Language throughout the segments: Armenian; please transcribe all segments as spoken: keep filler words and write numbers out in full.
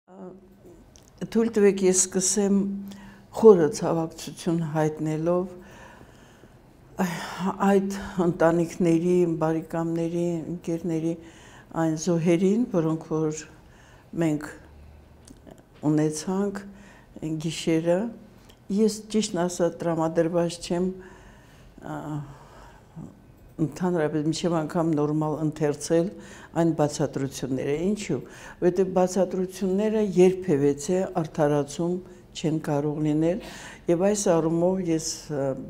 Թույլ տվեք ես սկսեմ խորը ցավակցություն հայտնելով այդ ընտանիքների, բարեկամների, ընկերների այն զոհերին, որոնք որ մենք ունեցանք գիշերը, ես ճիշտն ասած տրամադրված չեմ ընդհանրապես մինչև անգամ նորմալ ընթերցել այն բացատրությունները, ինչու, որովհետև բացատրությունները երբևէ արդարացում չեն կարող լինել, եւ այս առումով ես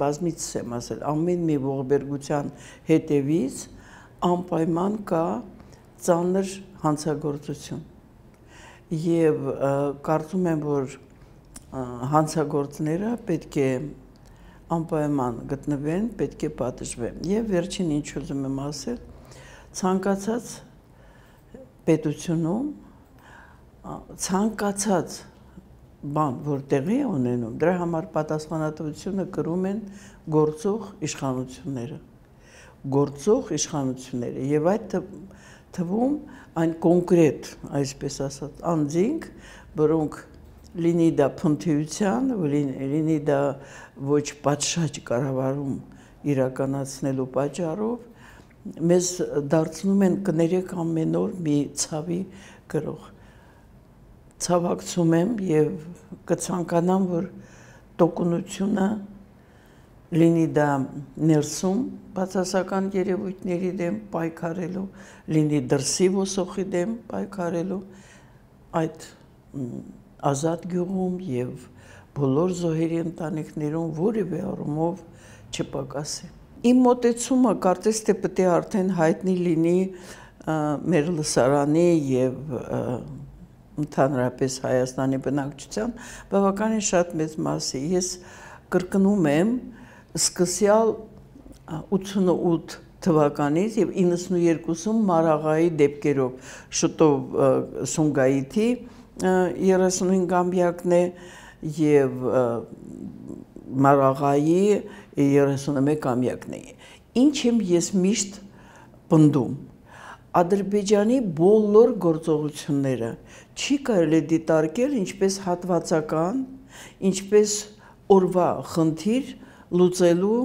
բազմիցս եմ ասել, ամեն մի ողբերգության հետևից անպայման կա ծանր հանցագործություն, եւ կարծում եմ, որ հանցագործները պետք է անպայման գտնվեն, պետք է պատժվեն, եւ վերջին ինչ ուզում եմ ասել, ցանկացած պետությունում ցանկացած բան, որ տեղի է ունենում, դրա համար պատասխանատվությունը կրում են գործող իշխանությունները, գործող իշխանությունները, եւ այդ թվում այն կոնկրետ, այսպես ասած, անձինք, որոնք լինի դա փնթիության, լինի դա ոչ պատշաճ կառավարում իրականացնելու պատճառով մեզ դարձնում են կներեք ամեն օր մի ցավի գրող։ Ցավակցում եմ եւ կցանկանամ, որ տոկունությունը լինի դա ներսում բացասական երևույթների դեմ պայքարելու, լինի դրսի ոսոխի դեմ պայքարելու, այդ ազատ գյուղում եւ բոլոր զոհերի ընտանիքներում որևէ առումով չպակասի։ Իմ մոտեցումը կարծես թե պետք է արդեն հայտնի լինի մեր լսարանի եւ ընդհանրապես Հայաստանի բնակչության բավականին շատ մեծ մասի։ Ես կրկնում եմ սկսյալ ութանասունութ թվականից եւ իննսունուերկուսում Մարաղայի դեպքերով շուտով Սումգայիթի երեսունհինգամյակն է եւ Մարաղայի երեսունմեկամյակն է։ Ինչ եմ ես միշտ պնդում, Ադրբեջանի բոլոր գործողությունները չի կարելի դիտարկել ինչպես հատվածական, ինչպես օրվա խնդիր լուծելու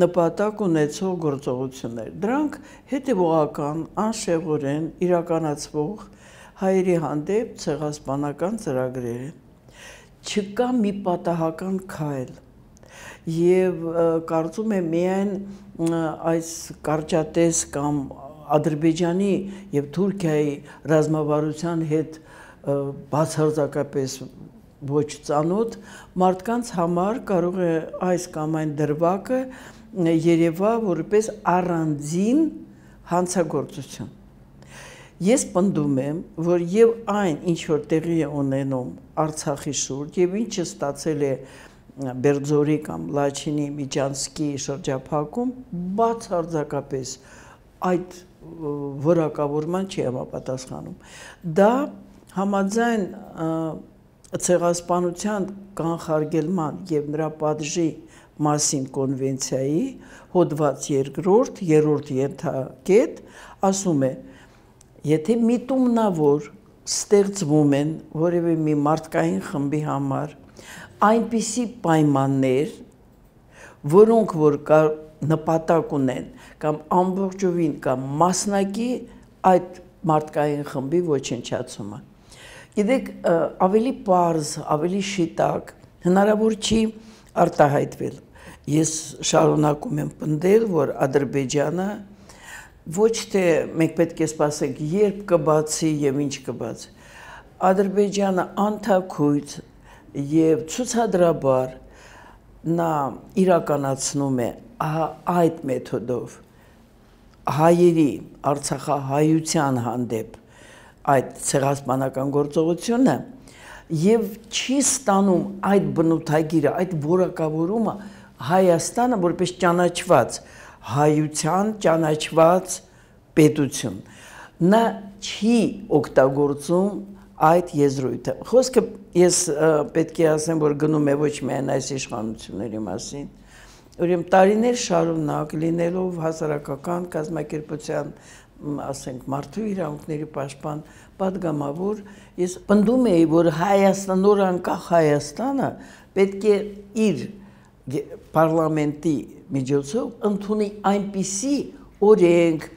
նպատակ ունեցող գործողություններ։ Դրանք հետևողական, անշեղորեն իրականացվող հայերի հանդեպ ցեղասպանական ծրագրեր են։ Չկա մի պատահական քայլ եւ կարծում եմ միայն այս կարճատես կամ Ադրբեջանի եւ Թուրքիայի ռազմավարության հետ բացարձակապես ոչ ծանոթ մարդկանց համար կարող է այս կամ այն դրվագը երևա որպես առանձին հանցագործություն։ Ես պնդում եմ, որ եւ այն, ինչ որ տեղի է ունենում Արցախի շուրջ եւ ինչը ստացել է Բերձորի կամ Լաչինի Միջանցքի շրջափակում, բացարձակապես այդ որակավորման չի համապատասխանում։ Դա համաձայն ցեղասպանության կանխարգելման եւ նրա պատժի մասին կոնվենցիայի հոդված երկրորդ, երրորդ ենթակետ ասում է, եթե միտումնավոր ստեղծվում են որևէ մի մարդկային խմբի համար այնպիսի պայմաններ, որոնք որ նպատակ ունեն կամ ամբողջովին կամ մասնակի այդ մարդկային խմբի ոչնչացումը։ Գիտեք, ավելի պարզ, ավելի շիտակ հնարավոր չի արտահայտվել։ Ես շարունակում եմ պնդել, որ Ադրբեջանը ոչ թե մենք պետք է սպասենք երբ կբացի եւ ինչ կբացի։ Ադրբեջանը անթաքույց եւ ցուցադրաբար նա իրականացնում է այդ մեթոդով հայերի արցախահայության հանդեպ այդ ցեղասպանական գործողությունը եւ չի ստանում այդ բնութագիրը, այդ որակավորումը Հայաստանը որպես ճանաչված հայության ճանաչված պետություն։ Նա չի օգտագործում այդ եզրույթը։ Խոսքը ես պետք է ասեմ, որ գնում է ոչ միայն այս իշխանությունների մասին, ուրեմն տարիներ շարունակ լինելով հասարակական կազմակերպության ասենք մարդու իրավունքների պաշտպան պատգամավոր, ես պնդում էի, որ Հայաստան, նոր անկախ Հայաստանը պետք է իր պարլամենտի միջոցով ընդունի այնպիսի օրենք,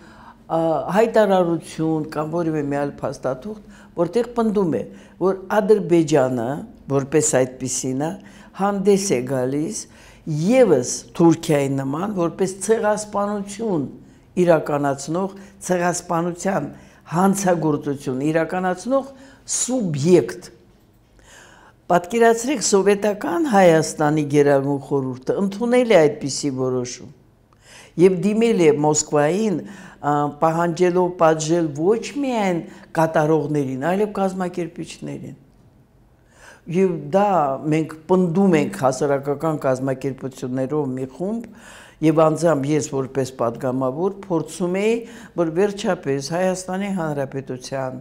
հայտարարություն կամ որևէ մի այլ փաստաթուղթ, որտեղ պնդում է, որ Ադրբեջանը, որպես այդպիսինը, հանդես է գալիս ևս Թուրքիայի նման, որպես ցեղասպանություն իրականացնող, ցեղասպանության հանցագործություն իրականացնող սուբյեկտ։ Պատկերացրեք, սովետական Հայաստանի Գերագույն խորհուրդը ընդունել է այդպիսի որոշում եւ դիմել է Մոսկվային, պահանջելով պատժել ոչ միայն կատարողներին, այլև կազմակերպիչներին։ Եվ դա մենք պնդում ենք հասարակական կազմակերպություններով մի խումբ, եւ անձամբ ես որպես պատգամավոր փորձում էի, որ վերջապես Հայաստանի Հանրապետության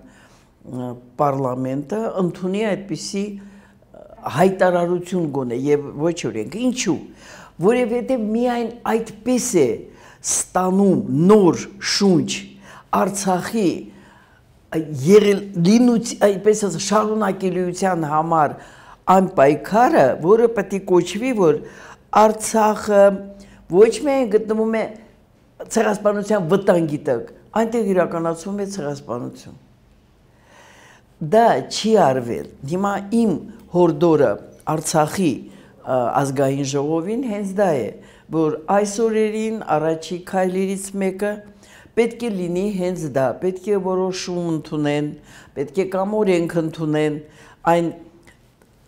պարլամենտը ընդունի այդպիսի հայտարարություն գոնե եւ ոչ օրենք։ Ինչու՞։ Որովհետեւ միայն այդպես է ստանում նոր շունչ Արցախի եղել լինուց այդպես շարունակելիության համար այն պայքարը, որը պետք է կոչվի, որ Արցախը ոչ միայն գտնվում է ցեղասպանության վտանգի տակ, այնտեղ իրականացվում է ցեղասպանություն։ Դա չի արվել։ Հիմա իմ հորդորը Արցախի ազգային ժողովին հենց դա է, որ այս օրերին առաջի քայլերից մեկը պետք է լինի հենց դա, պետք է որոշում ընդունեն, պետք է կամ օրենք ընդունեն, այն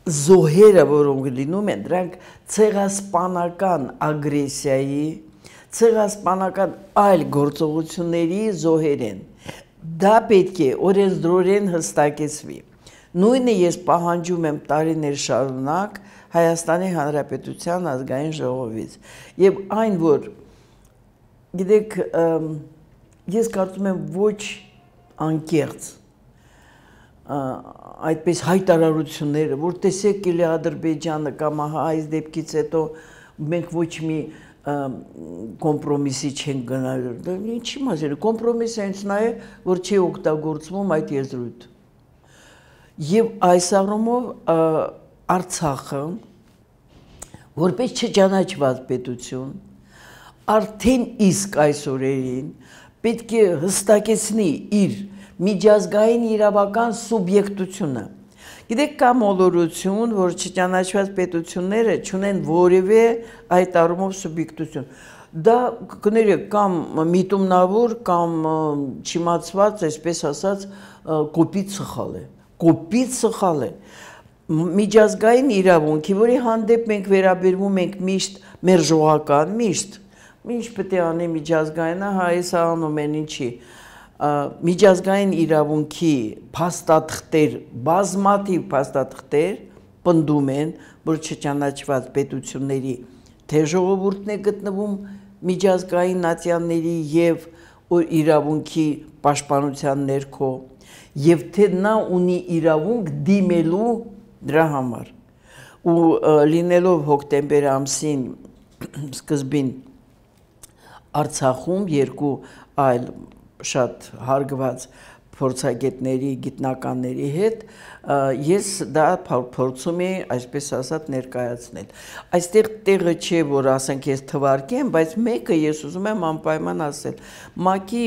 զոհերը, որոնք լինում են, դրանք ցեղասպանական ագրեսիայի, ցեղասպանական այլ գործողությունների զոհեր են։ Դա պետք է օրենսդրորեն հստակեցվի։ Նույնը ես պահանջում եմ տարիներ շարունակ Հայաստանի Հանրապետության ազգային ժողովից։ Եվ այն, որ գիտեք, ես կարծում եմ ոչ անկեղծ այդպես հայտարարությունները, որ տեսեք էլի Ադրբեջանը կամ այս դեպքից հետո մենք ոչ մի կոմպրոմիսի չենք գնալու։ Ինչի մասին, կոմպրոմիսը հենց նա է, որ չի օգտագործվում այդ եզրույթը։ Եվ այս առումով Արցախը, որպես չճանաչված պետություն, արդեն իսկ այս օրերին պետք է հստակեցնի իր միջազգային իրավական սուբյեկտությունը։ Գիտեք, կա մոլորություն, որ չճանաչված պետությունները չունեն որևէ այդ առումով սուբյեկտություն։ Դա կներեք կամ միտումնավոր կամ չիմացված, այսպես ասած, կոպիտ սխալ է։ Կոպիտ սխալ է։ Միջազգային իրավունքի, որի հանդեպ մենք վերաբերվում ենք միշտ մերժողական, միշտ, ինչ պետք է անի միջազգայինը, հայս անում են ինչի, միջազգային իրավունքի փաստաթղթեր, բազմաթիվ փաստաթղթեր պնդում են, որ չճանաչված պետությունների թե ժողովուրդն է գտնվում միջազգային նացիաների եւ իրավունքի պաշտպանության ներքո, եւ թե նա ունի իրավունք դիմելու դրա համար։ Ու լինելով հոկտեմբեր ամսին սկզբին Արցախում երկու այլ շատ հարգված փորձագետների, գիտնականների հետ ես դա փորձում եմ, այսպես ասած, ներկայացնել։ Այստեղ տեղը չէ, որ ասենք ես թվարկեմ, բայց մեկը ես ուզում եմ անպայման ասել։ ՄԱԿ-ի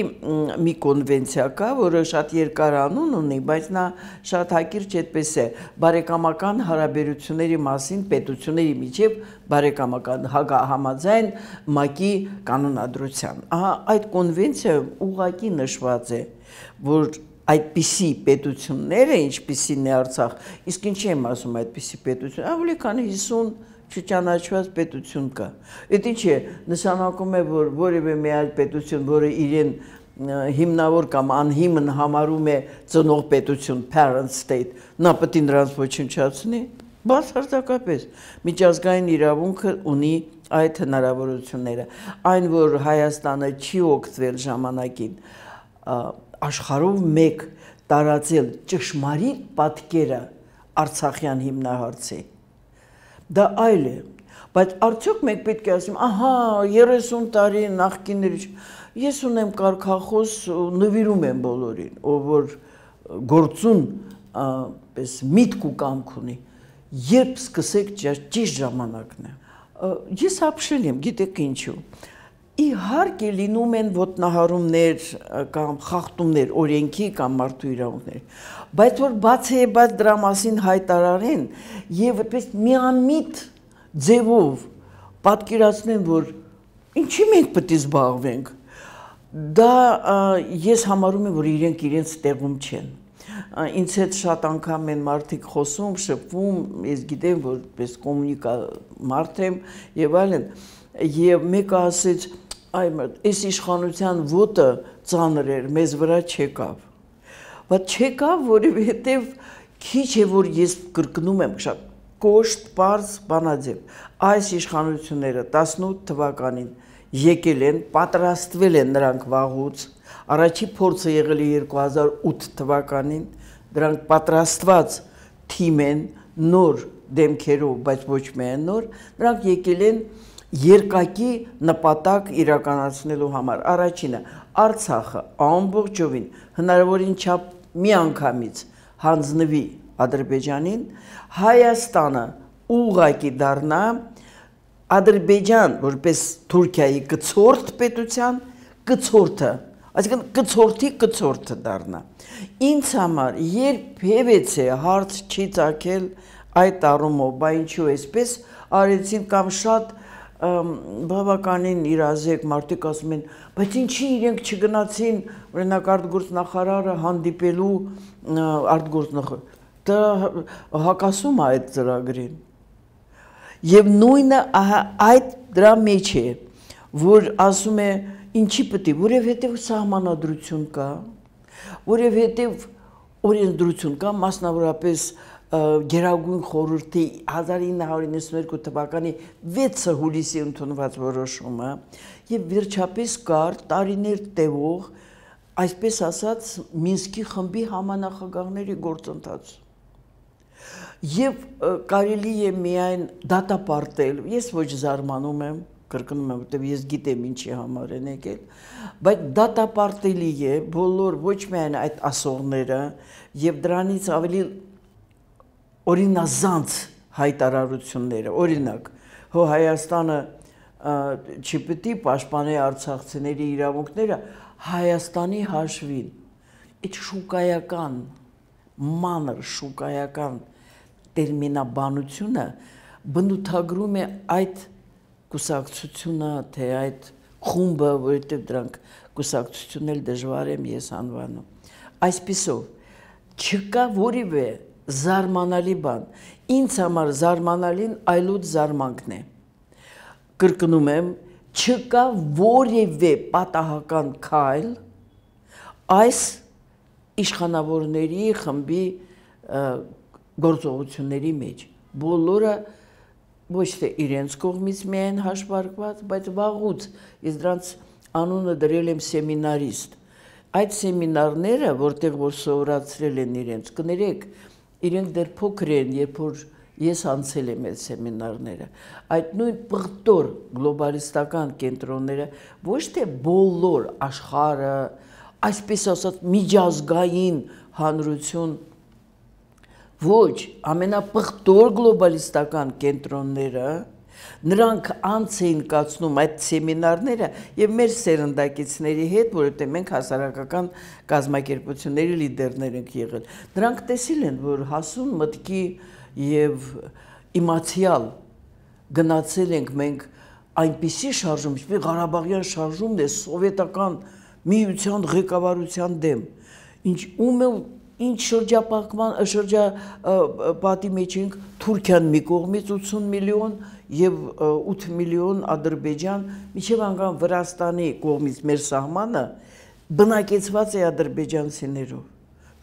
մի կոնվենցիա կա, որը շատ երկար անուն ունի, բայց նա շատ հակիրճ այդպես է, բարեկամական հարաբերությունների մասին պետությունների միջև բարեկամական համաձայն ՄԱԿ-ի կանոնադրության։ Ահա այդ կոնվենցիայում ուղղակի նշված է, որ այդպիսի պետությունները, ինչպիսին է Արցախ, իսկ ինչի եմ ասում այդպիսի պետություն, ավելի քան հիսուն չճանաչված պետություն կա։ Այդ ինչ է, նշանակում է, որ որևէ մի այլ պետություն, որը իրեն հիմնավոր կամ անհիմն համարում է ծնող պետություն, parent state, նա պետք է նրանց ոչնչացնի, բացարձակապես միջազգային իրավունքը ունի այդ հնարավորությունները։ Այն, որ Հայաստանը չի օգտվել ժամանակին աշխարհով մեկ տարածել ճշմարիտ պատկերը Արցախյան հիմնահարցի, դա այլ է։ Բայց արդյոք մենք պետք է ասենք, ահա երեսուն տարի նախկինների ես ունեմ կարգախոս նվիրում եմ բոլորին, ով որ գործուն պես միտք ու կամք ունի, երբ սկսեք ճիշտ ժամանակն է։ Ես ապշել եմ, գիտեք ինչու։ Իհարկե լինում են ոտնահարումներ կամ խախտումներ օրենքի կամ մարդու իրավունքների, բայց որ բացեբաց դրա մասին հայտարարեն եւ այդպես միամիտ ձևով պատկերացնեն, որ ինչի մենք պետք է զբաղվենք, դա ես համարում եմ, որ իրենք իրենց տեղում չեն։ Ինձ հետ շատ անգամ են մարդիկ խոսում, շփվում, ես գիտեմ, որ պես կոմունիկա մարդ եմ եւ այլն, եւ մեկը ասեց, այ այս իշխանության ոտը ծանր էր, մեզ վրա չեկավ։ Բայց չեկավ, որովհետեւ քիչ է որ ես կրկնում եմ շատ կոշտ, պարզ, բանաձև։ Այս իշխանությունները տասնութ թվականին եկել են, պատրաստվել են նրանք վաղուց, առաջի փորձը եղել է երկու հազար ութ թվականին, դրանք պատրաստված թիմ են, նոր դեմքերով, բայց ոչ միայն նոր, նրանք եկել են երկակի նպատակ իրականացնելու համար։ Առաջինը, Արցախը ամբողջովին հնարավորին չափ մի անգամից հանձնվի Ադրբեջանին, Հայաստանը ուղղակի դառնա Ադրբեջան, որպես Թուրքիայի կցորդ պետության, կցորդը, այսինքն կցորդի կցորդը դառնա։ Ինձ համար երբևէ հարց չի ծագել այդ առումով, բա ինչու էսպես արեցին կամ շատ բավականին իրազեկ մարդիկ ասում են, բայց ինչի իրենք չգնացին, օրինակ արտգործնախարարը հանդիպելու արտգործնախարար, դա հակասում է այդ ծրագրին։ Եվ նույնը այդ դրա մեջ է, որ ասում է ինչի պետք է, որովհետև սահմանադրություն կա, որովհետև օրենսդրություն կա, մասնավորապես Գերագույն խորհրդի հազար ինը հարյուր իննսունհինգ թվականի վեցը հուլիսի ընդունված որոշումը եւ վերջապես կար տարիներ տևող, այսպես ասած, Մինսկի խմբի համանախագահների գործընթաց։ Եվ կարելի է միայն դատապարտել, ես ոչ զարմանում եմ, կրկնում եմ, որտեղ ես գիտեմ ինչի համար են եկել, բայց դատապարտելի է բոլոր ոչ միայն այդ ասողները եւ դրանից ավելի օրինազանց հայտարարությունները, օրինակ, հո Հայաստանը չպետք է պաշտպանի արցախցիների իրավունքները Հայաստանի հաշվին, այդ շուկայական, մանր շուկայական տերմինաբանությունը բնութագրում է այդ կուսակցությունը, թե այդ խումբը, որովհետև դրանք կուսակցությունն էլ դժվար եմ ես անվանում։ Այսպիսով, չկա որևէ զարմանալի բան, ինձ համար զարմանալին այլոց զարմանքն է։ Կրկնում եմ, չկա որևէ պատահական քայլ այս իշխանավորների խմբի գործողությունների մեջ, բոլորը ոչ թե իրենց կողմից միայն հաշվարկված, բայց վաղուց ես դրանց անունը դրել եմ սեմինարիստ։ Այդ սեմինարները, որտեղ որ սովորացրել են իրենց, կներեք, իրենք դեռ փոքր են, երբ որ ես անցել եմ այդ սեմինարները, այդ նույն պղտոր գլոբալիստական կենտրոնները ոչ թե բոլոր աշխարհը, այսպես ասած միջազգային հանրություն, ոչ, ամենապղտոր գլոբալիստական կենտրոնները, նրանք անց էին կացնում այդ սեմինարները եւ մեր սերնդակիցների հետ, որովհետեւ մենք հասարակական կազմակերպությունների լիդերներ ենք եղել։ Նրանք տեսել են, որ հասուն մտքի եւ իմացիալ գնացել ենք մենք այնպիսի շարժում, ինչպես Ղարաբաղյան շարժումն է սովետական միության ղեկավարության դեմ, ինչ ում է ինչ շրջապատման շրջապատի մեջ ենք Թուրքիան մի կողմից ութսուն միլիոն եւ ութ միլիոն Ադրբեջան, միջև անգամ Վրաստանի կողմից մեր սահմանը բնակեցված է ադրբեջանցիներով։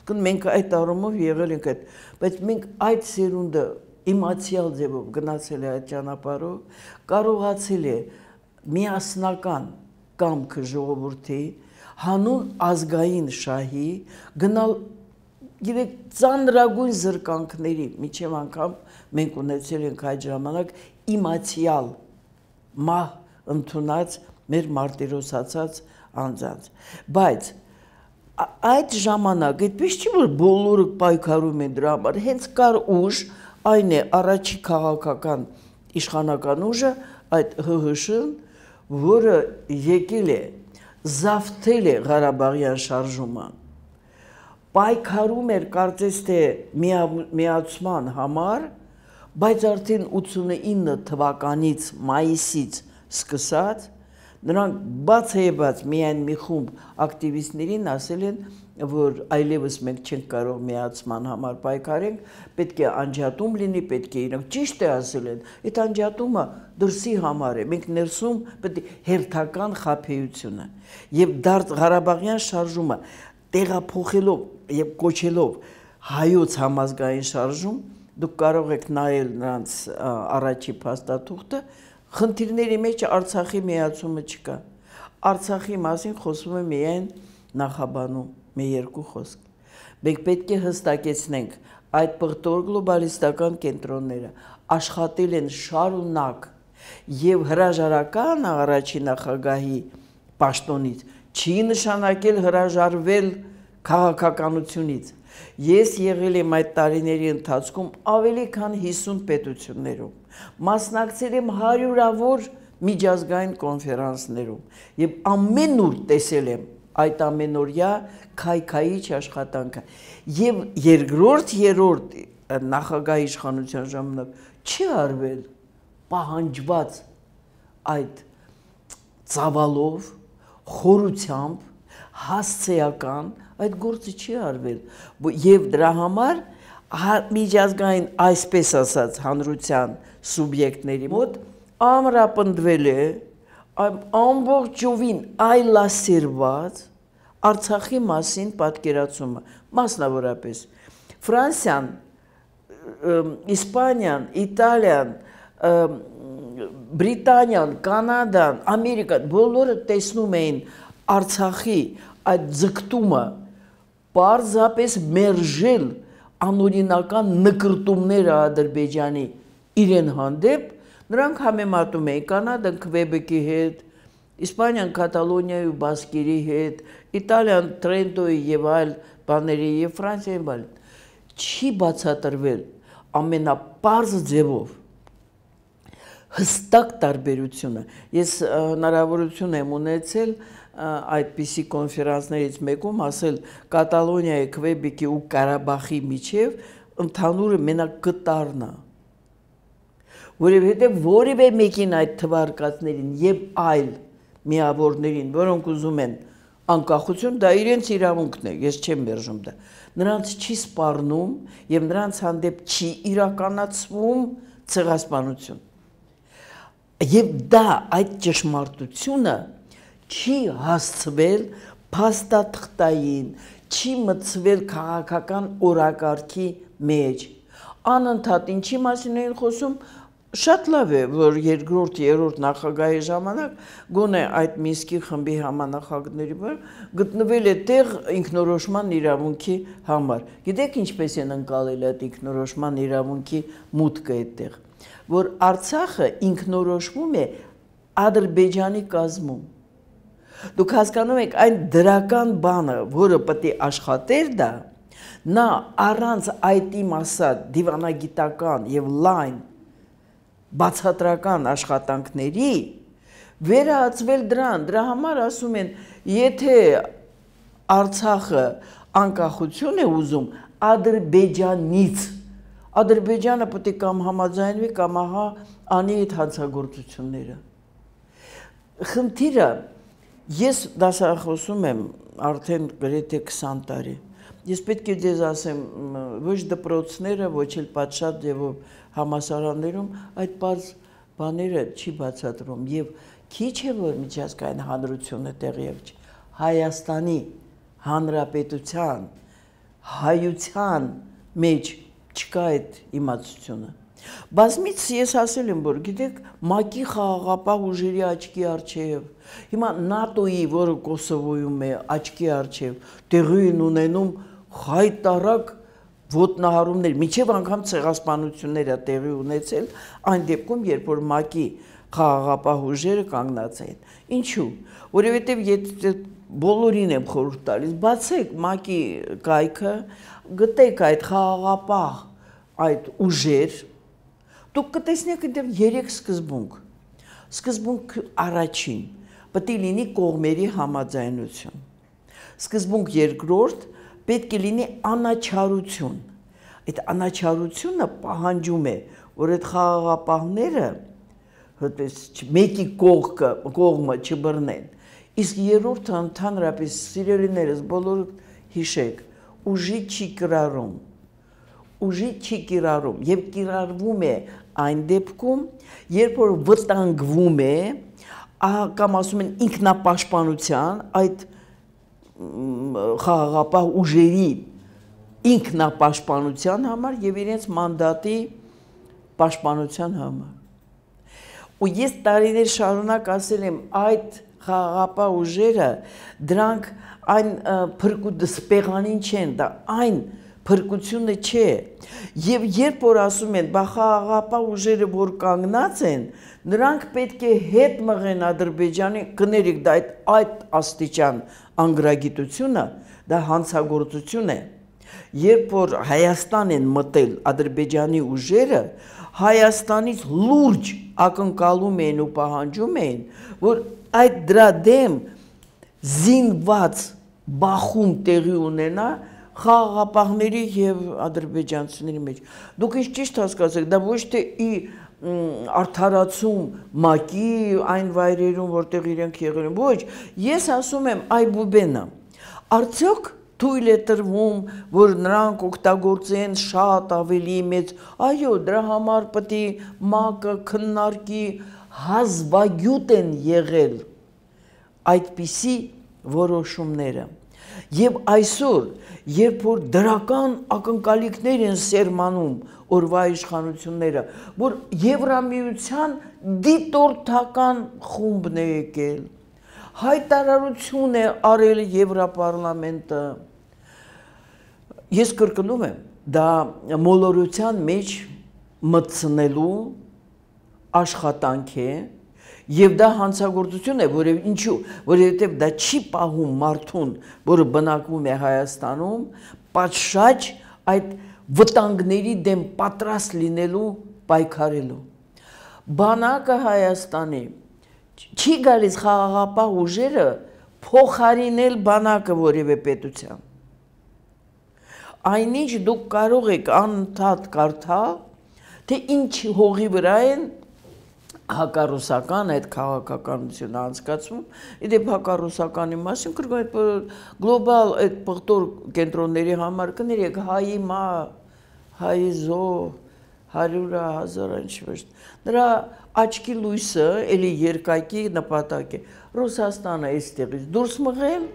Իսկ մենք այդ առումով եղել ենք այդ, բայց մենք այդ սերունդը իմացիալ ձևով գնացել է այդ ճանապարհով, կարողացել է միասնական կամքը ժողովրդի, հանուն ազգային շահի գնալ Գիտեք, ծանրագույն զրկանքների, միջև անգամ մենք ունեցել ենք այդ ժամանակ իմացյալ մահ ընդունած մեր մարտիրոսացած անձանց։ Բայց այդ ժամանակ այդպես չի որ բոլորը պայքարում են դրա համար, հենց կար ուժ, այն է առաջի քաղաքական իշխանական ուժը, այդ Հ Հ Շ-ն, որը եկել է, զավթել է Ղարաբաղյան շարժումը, պայքարում էր կարծես թե միացման համար, բայց արդեն ութսունինը թվականից մայիսից սկսած նրանք բացեբաց միայն մի խումբ ակտիվիստներին ասել են, որ այլևս մենք չենք կարող միացման համար պայքարենք, պետք է անջատում լինի, պետք է իրենք ճիշտ է ասել են, այդ անջատումը դրսի համար է, մենք ներսում պետք է հերթական խաբեությունը եւ դարձ Ղարաբաղյան շարժումը տեղափոխելով եւ կոչելով հայոց համազգային շարժում, դուք կարող եք նայել նրանց առաջի փաստաթուղթը, խնդիրների մեջ Արցախի միացումը չկա։ Արցախի մասին խոսում է միայն նախաբանում, մի երկու խոսք։ Մենք պետք է հստակեցնենք, այդ պղտոր գլոբալիստական կենտրոնները աշխատել են շարունակ եւ հրաժարական առաջի նախագահի պաշտոնից չի նշանակել հրաժարվել քաղաքականությունից։ Ես եղել եմ այդ տարիների ընթացքում ավելի քան հիսուն պետություններում, մասնակցել եմ հարյուրավոր միջազգային կոնֆերանսներում եւ ամենուր տեսել եմ այդ ամենօրյա քայքայիչ աշխատանքը եւ երկրորդ երրորդ նախագահ իշխանության ժամանակ չի արվել պահանջված այդ ծավալով, խորությամբ, հասցեական այդ գործը չի արվել եւ դրա համար միջազգային այսպես ասած հանրության սուբյեկտների մոտ ամրապնդվել է ամբողջովին այլասերված Արցախի մասին պատկերացումը, մասնավորապես Ֆրանսիան, Իսպանիան, Իտալիան, Բրիտանիան, Կանադան, Ամերիկան բոլորը տեսնում էին Արցախի այդ ձգտումը պարզապես մերժել անօրինական նկրտումները Ադրբեջանի իրեն հանդեպ, նրանք համեմատում էին Կանադան Քվեբեկի հետ, Իսպանիան Կատալոնիայի ու Բասկերի հետ, Իտալիան Տրենտոյի եւ այլ բաների եւ Ֆրանսիայի բան։ Չի բացատրվել ամենապարզ ձևով հստակ տարբերությունը։ Ես հնարավորություն եմ ունեցել այդպիսի կոնֆերանսներից մեկում ասել Կատալոնիայի, Քվեբեկի ու Ղարաբաղի միջև ընդհանուրը մենակ կտարն է, որովհետև որևէ մեկին այդ թվարկածներին եւ այլ միավորներին, որոնք ուզում են անկախություն, դա իրենց իրավունքն է, ես չեմ մերժում դա, նրանց չի սպառնում եւ նրանց հանդեպ չի իրականացվում ցեղասպանություն։ Եվ դա այդ ճշմարտությունը չի հասցվել փաստաթղթային, չի մտցվել քաղաքական օրակարգի մեջ։ Անընդհատ ինչի մասին էին խոսում, շատ լավ է, որ երկրորդ, երրորդ նախագահի ժամանակ գոնե այդ Մինսկի խմբի համանախագահների վրա գտնվել է տեղ ինքնորոշման իրավունքի համար։ Գիտեք ինչպես են ընկալել այդ ինքնորոշման իրավունքի մուտքը այդտեղ, որ Արցախը ինքնորոշվում է Ադրբեջանի կազմում։ Դուք հասկանում եք այն դրական բանը, որը պետք է աշխատեր դա, նա առանց այդ իմ ասած դիվանագիտական եւ լայն բացատրական աշխատանքների վերահացվել դրան, դրա համար ասում են, եթե Արցախը անկախություն է ուզում Ադրբեջանից, Ադրբեջանը պետք է կամ համաձայնվի, կամ ահա անի այդ հանցագործությունները։ Խնդիրը, ես դասախոսում եմ արդեն գրեթե քսան տարի, ես պետք է ձեզ ասեմ, ոչ դպրոցները, ոչ էլ պատշաճ ձևով համալսարաններում այդ պարզ բաները չի բացատրում եւ քիչ է որ միջազգային հանրությունը տեղյակ չի, Հայաստանի Հանրապետության հայության մեջ չկա այդ իմացությունը։ Բազմից ես ասել եմ, որ գիտեք, ՄԱԿ-ի խաղաղապահ ուժերի աչքի առջև, հիմա ՆԱՏՕ-ի, որը Կոսովոյում է, աչքի առջև տեղի են ունենում հայտարարակ ոտնահարումներ, միջև անգամ ցեղասպանություններ է տեղի ունեցել այն դեպքում, երբ որ ՄԱԿ-ի խաղաղապահ ուժերը կանգնած էին։ Ինչու՞։ Որովհետև եթե բոլորին եմ խորհուրդ տալիս, բացեք ՄԱԿ-ի կայքը, գտեք այդ խաղաղապահ այդ ուժեր, դուք կտեսնեք այնտեղ երեք սկզբունք։ Սկզբունք առաջին պետք է լինի կողմերի համաձայնություն։ Սկզբունք երկրորդ պետք է լինի անաչառություն։ Այդ անաչառությունը պահանջում է, որ այդ խաղաղապահները հատես մեկի կողքը կողմը չբռնեն։ Իսկ երրորդը ընդհանրապես սիրելիներս բոլոր հիշեք, ուժի չի կիրառում։ Ուժի չի կիրառում եւ կիրառվում է այն դեպքում, երբ որ վտանգվում է, կամ ասում են ինքնապաշտպանության այդ խաղաղապահ ուժերի ինքնապաշտպանության համար եւ իրենց մանդատի պաշտպանության համար։ Ու ես տարիներ շարունակ ասել եմ այդ խաղաղապահ ուժերը դրանք այն փրկուտ սպեղանին չեն, դա այն փրկությունը չէ։ Եվ երբ որ ասում են բա խաղաղապահ ուժերը որ կանգնած են, նրանք պետք է հետ մղեն Ադրբեջանի, կներեք դա այդ այդ աստիճան անգրագիտությունը, դա հանցագործություն է։ Երբ որ Հայաստան են մտել Ադրբեջանի ուժերը, Հայաստանից լուրջ ակնկալում էին ու պահանջում էին, որ այդ դրա դեմ զինված բախում տեղի ունենա խաղաղապահների եւ ադրբեջանցիների մեջ։ Դուք ինչ ճիշտ հասկացեք, դա ոչ թե ի արդարացում ՄԱԿ-ի այն վայրերում, որտեղ իրենք եղել են, ոչ, ես ասում եմ այ բուբենը, արդյոք թույլ է տրվում, որ նրանք օգտագործեն շատ ավելի մեծ, այո, դրա համար պետք է ՄԱԿ-ը քննարկի, հազվագյուտ են եղել այդպիսի որոշումները։ Եվ այսօր, երբ որ դրական ակնկալիքներ են սերմանում օրվա իշխանությունները, որ Եվրամիության դիտորդական խումբն է եկել, հայտարարություն է արել Եվրապարլամենտը, ես կրկնում եմ, դա մոլորության մեջ մտցնելու աշխատանք է, եւ դա հանցագործություն է, որև ինչու, որովհետեւ դա չի պահում մարդուն, որը բնակվում է Հայաստանում, պատշաճ այդ վտանգների դեմ պատրաստ լինելու, պայքարելու։ Բանակը Հայաստանի չի գալիս խաղաղապահ ուժերը փոխարինել բանակը որևէ պետության։ Այնինչ դուք կարող եք անընդհատ կարդալ, թե ինչ հողի վրա են հակառուսական այդ քաղաքականությունը անցկացվում, իդեպ հակառուսականի մասին կրկնում այդ գլոբալ այդ պղտոր կենտրոնների համար կներեք հայի մա, հայի զո, հարյուրը, հազարը, ինչ-որ, նրա աչքի լույսը, էլի երկակի նպատակ է, Ռուսաստանը այստեղից դուրս մղել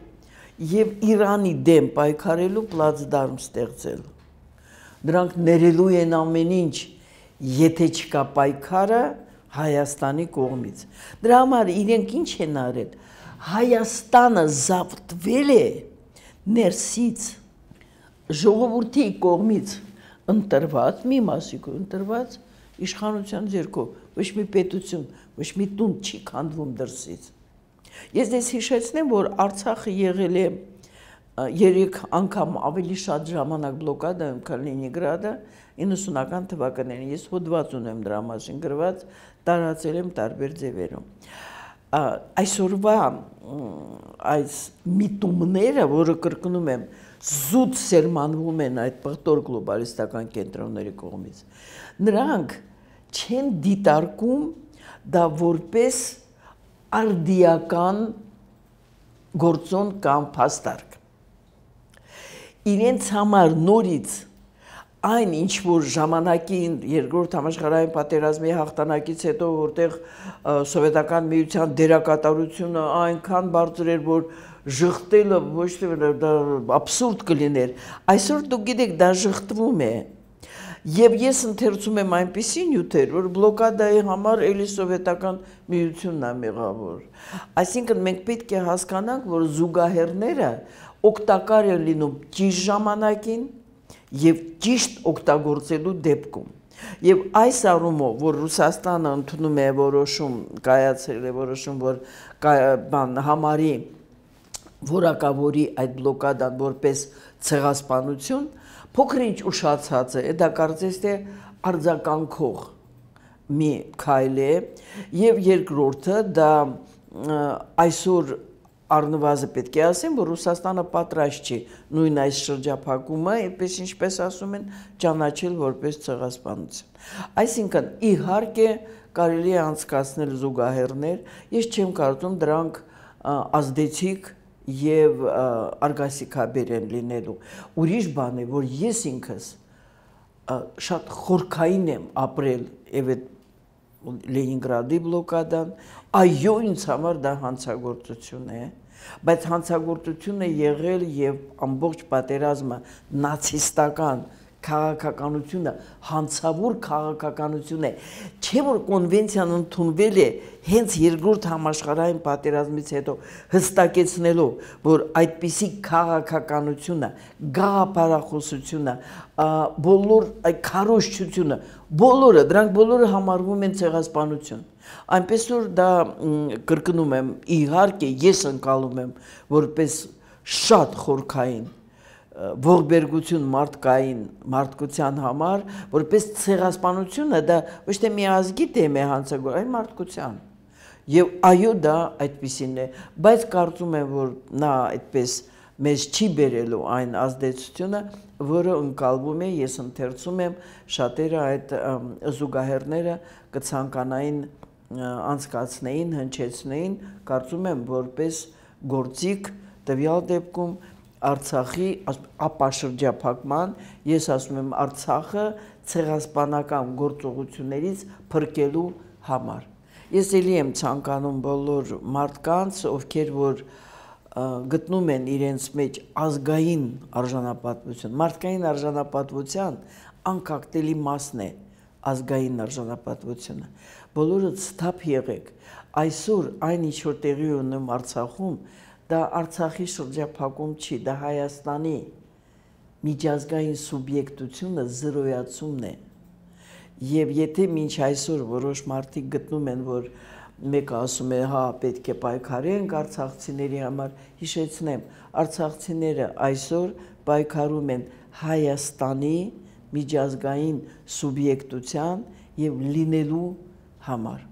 և Իրանի դեմ պայքարելու պլացդարմ ստեղծել։ Դրանք ներելու են ամեն ինչ, եթե չկա պայքարը, Հայաստանի կողմից։ Դրա համար իրենք ինչ են արել, Հայաստանը զավթվել է ներսից, ժողովրդի կողմից ընտրված, մի մասիկով ընտրված իշխանության ձեռքով, ոչ մի պետություն, ոչ մի տուն չի քանդվում դրսից։ Ես դες հիշեցնեմ, որ Արցախը եղել է երեք անգամ ավելի շատ ժամանակ բլոկադայում, քան Լենինգրադը, իննսունական թվականներին, ես հոդված ունեմ դրա մասին գրված, տարածել եմ տարբեր ձևերում։ Այսօրվա այս միտումները, որը կրկնում եմ, զուտ սերմանվում են այդ պղտոր գլոբալիստական կենտրոնների կողմից, նրանք չեն դիտարկում դա որպես արդիական գործոն կամ փաստարկ։ Իրենց համար նորից այն ինչ որ ժամանակին երկրորդ համաշխարհային պատերազմի հաղթանակից հետո որտեղ սովետական միության դերակատարությունը այնքան բարձր էր, որ ժխտելը ոչ թե դա աբսուրդ կլիներ, այսօր դուք գիտեք դա ժխտվում է։ Եվ ես ընթերցում եմ այնպիսի նյութեր, որ բլոկադայի համար էլի սովետական միությունն է մեղավոր։ Այսինքն մենք պետք է հասկանանք, որ զուգահեռները օգտակար են լինում ճիշտ ժամանակին եւ ճիշտ օգտագործելու դեպքում։ Եվ այս առումով, որ Ռուսաստանը ընդունում է որոշում, կայացրել է որոշում, որ բան համարի որակավորի այդ բլոկադան որպես ցեղասպանություն, փոքր-ինչ ուշացած է, դա կարծես թե արձագանքող մի քայլ է, եւ երկրորդը դա այսօր առնվազն պետք է ասեմ, որ Ռուսաստանը պատրաստ չի նույն այս շրջափակումը, այդպես ինչպես ասում են, ճանաչել որպես ցեղասպանություն։ Այսինքն, իհարկե կարելի է անցկացնել զուգահեռներ, ես չեմ կարծում դրանք ազդեցիկ եւ արգասիքաբեր են լինելու։ Ուրիշ բան է, որ ես ինքս շատ խորքային եմ ապրել եւ այդ Լենինգրադի բլոկադան, այո, ինձ համար դա հանցագործություն է, բայց հանցագործություն է եղել եւ ամբողջ պատերազմը նացիստական քաղաքականությունը հանցավոր քաղաքականություն է, չէ որ կոնվենցիան ընդունվել է հենց երկրորդ համաշխարհային պատերազմից հետո հստակեցնելով, որ այդպիսի քաղաքականությունը, գաղափարախոսությունը, բոլոր այդ քարոզչությունը, բոլորը, դրանք բոլորը համարվում են ցեղասպանություն։ Այնպես որ դա կրկնում եմ, իհարկե ես ընկալում եմ որպես շատ խորքային ողբերգություն մարդկային մարդկության համար, որպես ցեղասպանությունը դա ոչ թե մի ազգի դեմ է հանցագործ, այլ մարդկության։ Եվ այո, դա այդպիսին է, բայց կարծում եմ, որ նա այդպես մեզ չի բերելու այն ազդեցությունը, որը ընկալվում է, ես ընթերցում եմ, շատերը այդ զուգահեռները կցանկանային անցկացնեին, հնչեցնեին, կարծում եմ, որպես գործիք տվյալ դեպքում Արցախի ապաշրջափակման, ես ասում եմ Արցախը ցեղասպանական գործողություններից փրկելու համար։ Ես էլի եմ ցանկանում բոլոր մարդկանց, ովքեր որ գտնում են իրենց մեջ ազգային արժանապատվություն, մարդկային արժանապատվության անկախտելի մասն է ազգային արժանապատվությունը։ Բոլորը ցտապ եղեք, այսօր այն ինչ որ տեղի ունում Արցախում, դա Արցախի շրջափակում չի, դա Հայաստանի միջազգային սուբյեկտությունը զրոյացումն է։ Եվ եթե մինչ այսօր որոշ մարդիկ գտնում են, որ մեկը ասում է, հա, պետք է պայքարենք արցախցիների համար, հիշեցնեմ, արցախցիները այսօր պայքարում են Հայաստանի միջազգային սուբյեկտության եւ լինելու համար։